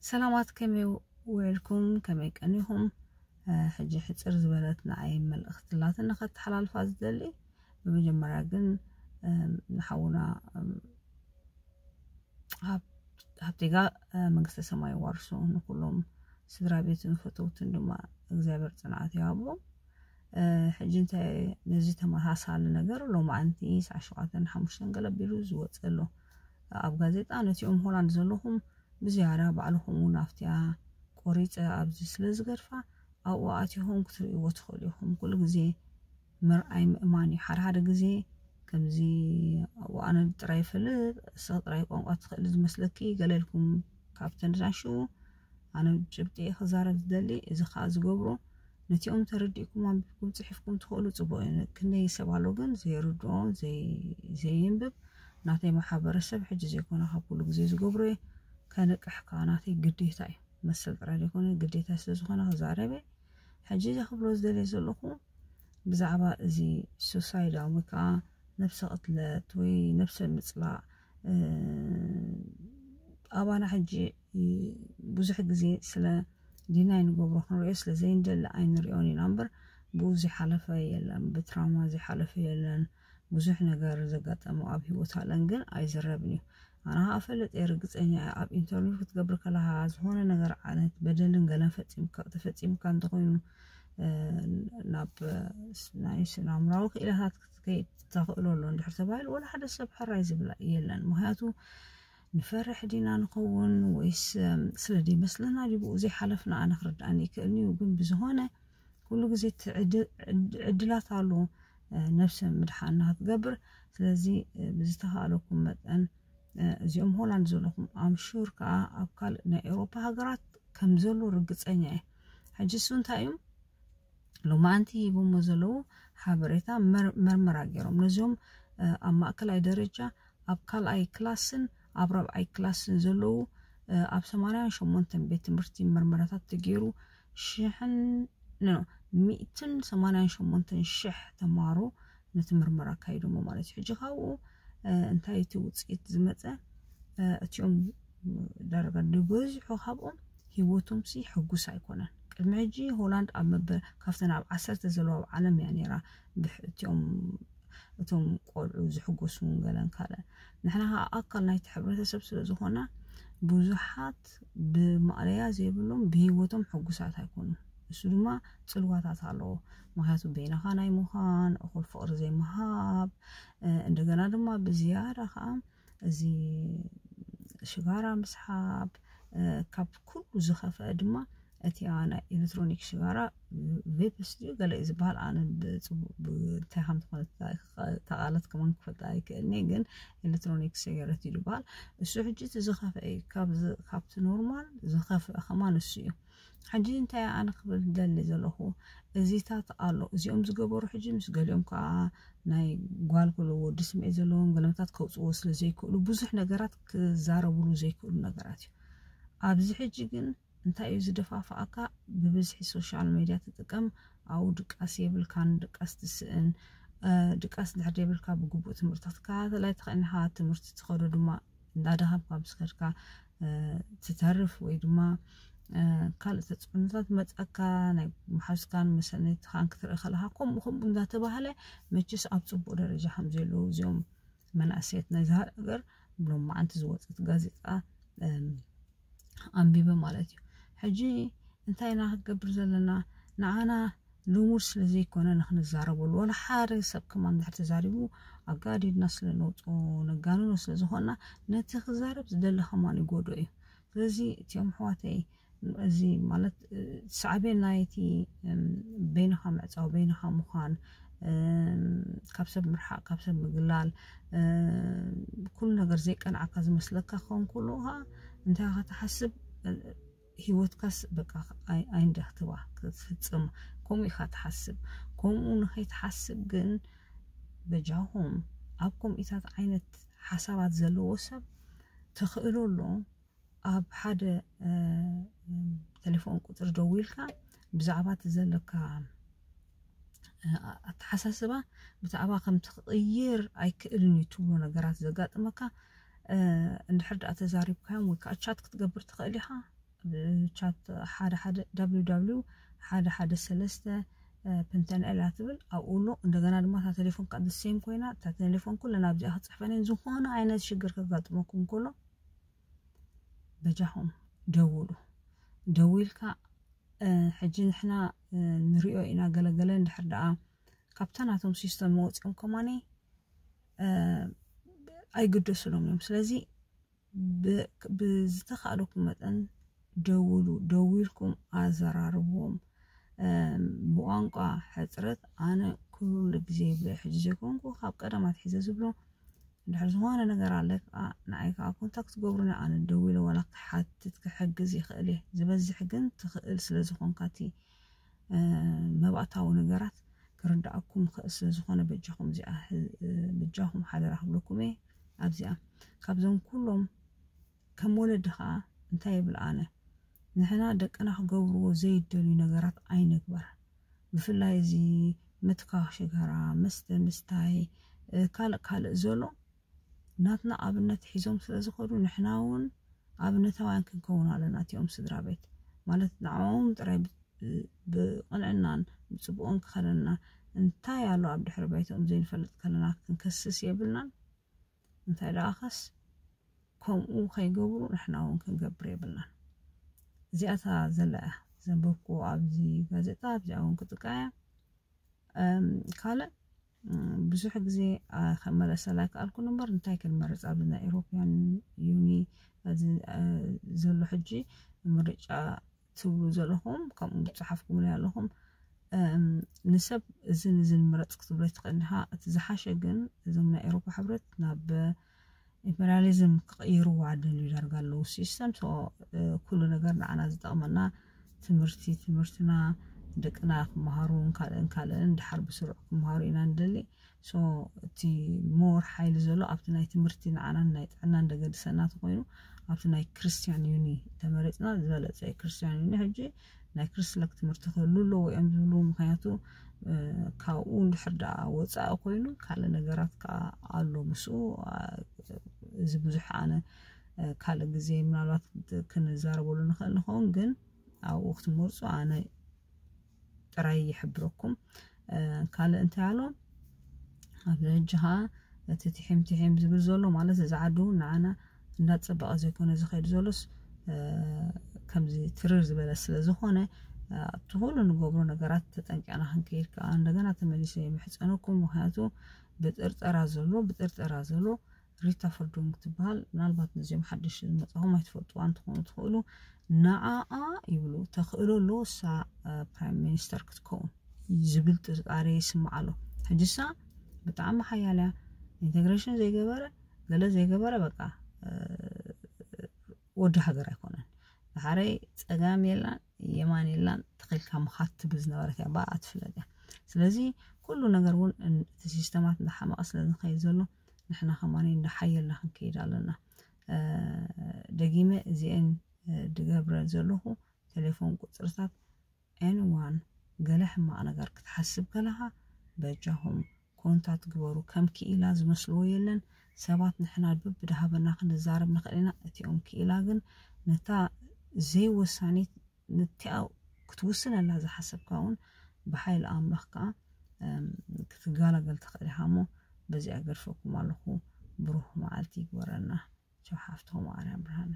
ሰላማት፣ ከመይ ውዕልኩም? ከመይ ቀኒኹም? ሕጂ ሕፅር ዝበለት ንዓይ መልእኽቲ ኣላትኒ ከተሓላልፋ ዝደሊ። ብመጀመርያ ግን ንሓውና ሃብቴጋ መንግስተ ሰማይ ዋርሶ፣ ንኩሎም ስድራ ቤትን ፈተውትን ድማ እግዚኣብሔር ፅንዓት ይሃቦም። ሕጂ እንታይ፣ ነዚ ተመሳሳሊ ነገር ሎማዓንቲ ሰዓት ሸውዓተን ሓሙሽተን ገለ ኣቢሉ ዝወፀ ኣሎ ኣብ ጋዜጣ። ነቲኦም ሆላንድ ዘለኹም ብዝያዳ ባዕልኹም እውን ኣብቲያ ቆሪፀ ኣብዚ ስለ ዝገድፋ ኣብኡ ኣቲኹም ክትርእይዎ ትኽእሉ ኢኹም። ኩሉ ግዜ ምርኣይ ምእማን እዩ። ሓደ ሓደ ግዜ ከምዚ ኣብኡ ኣነ ጥራይ ይፈልጥ፣ እስኺ ጥራይ ቋንቋ ትኽእሊ ዝመስለኪ ገለ ኢልኩም ካብተን ዝናሽኡ ኣነ ጭብጢ እየ ክዛረብ ዝደሊ። እዚ ከዓ ዝገብሮ ነቲኦም ተረዲእኩም ኣንቢብኩም ፅሒፍኩም ትኽእሉ ፅቡቅ እዩ። ክንደይ ሰብ ኣሎ ግን ዘይርድኦ ዘይ- ዘየንብብ። ናተይ ማሕበረሰብ ሕጂ ዘይኮነ ካብ ኩሉ ግዜ ዝገብሮ እየ። ከንቅሕ ከዓ ናተይ ግዴታ እዩ። መሰል ጥራይ ዘይኮነ ግዴታ ስለዝኾነ ክዛረብ እየ። ሕጂ እዚ ክብሎ ዝደልየ ዘለኹ ብዛዕባ እዚ ሱሳይድ ወይ ከዓ ነብሰ ቅትለት ወይ ነብሰ ምፅላእ ኣባና ሕጂ ብዙሕ ግዜ ስለ ዲናይ ንገብሮ ክንሪኦ ስለ ዘይንደሊ ኣይንሪኦን ኢና እምበር ብኡ ዝሓለፈ የለን፣ ብትራውማ ዝሓለፈ የለን። ብዙሕ ነገር ዘጋጠሙ ኣብ ህይወት ኣለን ግን ኣይዝረብን እዩ። ኣነ ከዓ ፈልጥ እየ፣ ርግፀኛ እየ። ኣብ ኢንተርቪው ክትገብር ከለካ ዝኾነ ነገር ዓይነት በደልን ገለን ፈፂምካ ተፈፂምካ እንተኮይኑ ናብ ናይ ስነ ኣእምራዊ ክኢላታት ክትከይድ ተኽእሎ ኣሎ እንድሕር ተባሂሉ ወላ ሓደ ሰብ ሕራይ ዝብላ የለን። ምክንያቱ ንፈርሕ ዲና ንኸውን ወይስ ስለ ዘይመስለና ድዩ ብኡ ዘይሓለፍና ኣነ ክርድኣኒ ይክእልኒ እዩ። ግን ብዝኾነ ኩሉ ግዜ ዕድላት ኣሎ ነብሰ ምድሓን ክትገብር። ስለዚ ብዝተኻእለኩም መጠን እዚኦም ሆላንድ ዘለኹም ኣምሹር ከዓ ኣብ ካልእ ናይ ኤውሮፓ ሃገራት ከም ዘሎ ርግፀኛ እየ። ሕጂ እሱ እንታይ እዩ ሎማዓንቲ ሂቦሞ ዘለዉ ሓበሬታ መርመራ ገይሮም ነዚኦም ኣብ ማእከላይ ደረጃ ኣብ ካልኣይ ክላስን ኣብ ራብዓይ ክላስን ዘለዉ ኣብ ሰማንያን ሸሞንተን ቤት ትምህርቲ መርመራታት ተገይሩ ሽሕን ሚእትን ሰማንያን ሸሞንተን ሽሕ ተምሃሮ ነቲ መርመራ ኣካይዶሞ ማለት እዩ። ሕጂ ካብኡ እንታይ እቲ ውፅኢት ዝመፀ? እቲኦም ዳርጋ ዝበዝሑ ካብኦም ህይወቶም ሲ ሕጉስ ኣይኮነን። ቅድሚ ሕጂ ሆላንድ ኣብ መበ ካብተን ኣብ ዓሰርተ ዘለዋ ኣብ ዓለም እያ ነይራ። እቲኦም እቶም ቆልዑ ዝሕጎሱ ገለን ካልእ ንሕና ከዓ ኣካል ናይቲ ሕብረተሰብ ስለ ዝኾና ብዙሓት ብማእለያ ዘይብሎም ብህይወቶም ሕጉሳት ኣይኮኑን። እሱ ድማ ፅልዋታት ኣለዎ። ምክንያቱ በይንኻ ናይ ምዃን፣ እኹል ፍቕሪ ዘይምሃብ፣ እንደገና ድማ ብዝያዳ ከዓ እዚ ሽጋራ ምስሓብ፣ ካብ ኩሉ ዝኸፍአ ድማ እቲ ናይ ኤሌክትሮኒክ ሽጋራ ቬፕስ ድዩ ገለ እዩ ዝበሃል። ኣነ እንታይ ከም ዝኾነ ተቓለት ከማን ክፈልጣ ኣይክእልኒ፣ ግን ኤሌክትሮኒክ ሲጋሬት እዩ ዝበሃል። እሱ ሕጂ እቲ ዝኸፍአ እዩ፣ ካብቲ ኖርማል ዝኸፍአ ከማን እሱ እዩ። ሕጂ እንታይ ኣነ ክብል ደሊ ዘለኹ እዚታት ኣሎ እዚኦም ዝገበሩ ሕጂ ምስ ገሊኦም ከዓ ናይ ጓል ክሉ ወዲ ስምዒ ዘለዎም ገለመታት ከውፅዎ ስለ ዘይክእሉ ብዙሕ ነገራት ክዛረብሉ ዘይክእሉ ነገራት እዩ። ኣብዚ ሕጂ ግን እንታይ እዩ ዝደፋፍኣካ? ብብዝሒ ሶሻል ሜድያ ትጥቀም፣ ኣብኡ ድቃስ የብልካን፣ ድቃስ ትስእን። ድቃስ ድሕር የብልካ ብግቡእ ትምህርቲ ክትከታተል ኣይትኽእልኻ። ትምህርቲ ትኸዶ ድማ እንዳደኸምካ ምስ ከድካ ትተርፍ ወይ ድማ ካልእ ተፅዕኖታት መፀካ ናይ መሓዝካን መሰነይትኻን ክትርኢ ከለካ ከምኡ ከምኡ እንዳተባሃለ መችስ ኣብ ፅቡቅ ደረጃ ከም ዘለዉ እዚኦም መናእሰያት ናይዚ ሃገር ብሎም መዓንቲ ዝወፀት ጋዜጣ ኣንቢበ ማለት እዩ። ሕጂ እንታይ ኢና ክትገብር ዘለና? ንዓና ልሙድ ስለ ዘይኮነ ንክንዛረበሉ ወላ ሓደ ሰብ ከማን ድሕር ተዛሪቡ ኣጋዲድና ስለ ነውፅኦ ነጋንኖ ስለ ዝኾንና ነቲ ክዛረብ ዝደሊ ከማን ይጎድኦ እዩ። ስለዚ እቲኦም ኣሕዋተይ እዚ ማለት ሳዕቤን ናይቲ በይንኻ ምዕፃው በይንኻ ምዃን ካብ ሰብ ምርሓቅ ካብ ሰብ ምግላል ኩሉ ነገር ዘይቀንዓካ ዝመስለካ ክኸውን ከሎ ከዓ እንታይ ኢኻ ትሓስብ? ህይወትካስ በቃ ኣይንደክትባ ክትፍፅም ከምኡ ኢኻ ትሓስብ። ከምኡ ንኸይትሓስብ ግን በጃኹም ኣብ ከምኡታት ዓይነት ሓሳባት ዘለዎ ሰብ ተኽእሎ ኣሎ ኣብ ሓደ ቴሌፎን ቁፅሪ ደዊልካ ብዛዕባ እቲ ዘለካ ኣተሓሳስባ ብዛዕባ ከም ትቕይር ኣይክእልን እዩ ትብሎ ነገራት ዘጋጥመካ እንድሕር ደኣ ተዛሪብካዮም ወይ ከዓ ቻት ክትገብር ትኽእል ኢኻ። ቻት ሓደ ሓደ www ሓደ ሓደ ሰለስተ ፕንተንኤል እያ ትብል ኣብኡ ኣሎ። እንደገና ድማ እታ ቴሌፎን ከዓ ሴም ኮይና እታ ቴሌፎን ኩለን ኣብዚኣ ክፅሕፈን እየን። ዝኾነ ዓይነት ሽግር ከጋጥመኩም ከሎ በጃኹም ደውሉ። ደዊልካ ሕጂ ንሕና ንሪኦ ኢና ገለገለ እንድሕር ደኣ ካብታ ናቶም ሲስተም መወፂኦም ከማኒ ኣይግደሱሎም እዮም። ስለዚ ብዝተኻእለኩም መጠን ደውሉ፣ ደዊልኩም ኣዘራርብዎም። ብቋንቋ ሕፅረት ኣነ ኩሉ ግዜ ይብሎ ሕጂ ዘይኮንኩ ካብ ቀደም ኣትሒዘ ዝብሎ እንድሕር ዝኾነ ነገር ኣለ ከዓ ንዓይ ከዓ ኮንታክት ገብሩኒ ኣነ ደዊለ ዋላ ክሓትት ክሕግዝ ይኽእል እየ። ዝበዝሕ ግን ትኽእል ስለ ዝኾንካ እቲ መባእታዊ ነገራት ክርዳኣኩም ይኽእል ስለ ዝኾነ በጃኹም እዚኣ በጃኹም ሓደራ ክብለኩም እየ። ኣብዚኣ ካብዞም ኩሎም ከም ወለዲ ከዓ እንታይ ይብል ኣነ ንሕና ደቅና ክገብርዎ ዘይደልዩ ነገራት ኣይንግበር። ብፍላይ እዚ ምትካኽ ሽጋራ፣ መስተ ምስታይ፣ ካልእ ካልእ ዘሎ ናትና ኣብነት ሒዞም ስለ ዝኸዱ ንሕና እውን ኣብነታውያን ክንከውን ኣለና። እቲኦም ስድራ ቤት ማለት ንዕኦም ጥራይ ብቕንዕናን ብፅቡቕን ክኸደና እንታይ ኣሎ ኣብ ድሕሪ ባይትኦም ዘይንፈልጥ ከለና ክንከስስ የብልናን። እንታይ ደኣኸስ ከምኡ ከይገብሩ ንሕና እውን ክንገብር የብልናን። እዚኣታ ዘላ እያ ዘንበብኩ ኣብዚ ጋዜጣ ኣብዚኣ እውን ክጥቃያ ካልእ ብዙሕ ግዜ ከመለሰላ ይከኣልኩን እምበር እንታይ ክንመርፅ ኣብዚ ናይ ኤሮፕያን ዩኒ ዘሎ ሕጂ ምርጫ ትብሉ ዘለኹም ከምኡ ዝፀሓፍኩምለይ ኣለኹም ንሰብ እዝን እዝን ምረፅ ክትብሎ ትኽእል ኢኻ። እቲ ዝሓሸ ግን እዞም ናይ ኤሮፓ ሕብረት ናብ ኢምፔሪያሊዝም ክቕይርዋ ደልዩ ዳርጋ ኣለዉ ሲስተም ኩሉ ነገር ንዓና ዝጠቕመና ትምህርቲ ትምህርትና ደቅና ክመሃሩ ካልእን ካልእን ድሓር ብስሩዕ ክመሃሩ ኢና ንደሊ። እቲ ሞር ሓይሊ ዘሎ ኣብቲ ናይ ትምህርቲ ንዓናን ናይ ጥዕናን ደገድሰና ተኮይኑ ኣብቲ ናይ ክርስቲያን ዩኒ ተመሪፅና ዝበለፀ እዩ። ክርስቲያን ዩኒ ሕጂ ናይ ክርስለክ ትምህርቲ ክህሉ ኣለዎ እዮም ዝብሉ። ምክንያቱ ካብኡ እንድሕር ደኣ ወፃኢ ኮይኑ ካልእ ነገራት ከዓ ኣሎ ምስኡ። እዚ ብዙሕ ኣነ ካልእ ግዜ ምናልባት ክንዛረበሉ ንኽእል ንኸውን፣ ግን ኣብኡ ክትመርፁ ኣነ ጥራይ ይሕብረኩም። ካልእ እንታይ ኣሎ ኣብዚ ሕጂ ከዓ እቲ ትሒም ትሒም ዝብል ዘሎ ማለት እዚ ዓዲ እውን ንዓና እንዳፀበቐ ዘይኮነ ዝኸይድ ዘሎስ ከምዚ ትርር ዝበለ ስለ ዝኾነ እቲ ኩሉ ንገብሮ ነገራት ተጠንቂቕና ክንከይድ ከዓ እንደገና ተመሊሰ የምሕፀነኩም። ምክንያቱ ብጥርጠራ ዘሎ ብጥርጠራ ዘሎ ሪታ ፈርዶንግ ትበሃል። ምናልባት ነዚኦም ሓደሽ ዝመፃኹም ኣይትፈልጥዋ እንትኾኑ ትኽእሉ። ንዓኣ ይብሉ ተኽእሎ ኣለዎ እሳ ፕራይም ሚኒስተር ክትከውን ዝብል ጥርጣሬ ይስማዕ ኣሎ። ሕጂ እሳ ብጣዕሚ ሓያል እያ። ኢንቴግሬሽን ዘይገበረ ገለ ዘይገበረ በቃ ወዲ ሃገር ኣይኮነን። ድሓረይ ፀጋም የላን የማን የላን ተኸልካ ምኻት ትብል ዝነበረት እያ። ብኣ ትፍለጥ እያ። ስለዚ ኩሉ ነገር እውን እቲ ሲስተማት እንዳሓመቐ ስለ ዝኸይድ ዘሎ ንሕና ከማኒ እንዳሓየልና ክንከይድ ኣለና። ደጊመ እዚአን ድገብረ ዘለኹ ቴሌፎን ቁፅርታት ኤንዋን ገለ ሕማቕ ነገር ክትሓስብ ከለኻ በጃኹም ኮንታት ግበሩ። ከም ክኢላ ዝመስልዎ የለን። ሰባት ንሕና በብድሃበና ክንዛረብ ንኽእል ኢና። እቲኦም ክኢላ ግን ነታ ዘይወሳኒት ነቲኣ ክትውስነላ ዝሓሰብካ እውን ብሓይሊ ኣምላኽ ከዓ ክትጋላገል ትኽእል ኢኻ እሞ በዚኣ ገድፈኩም ኣለኹ። ብሩህ መዓልቲ ይግበረና። ቻው ሓፍትኹም ኣርያ ብርሃነ።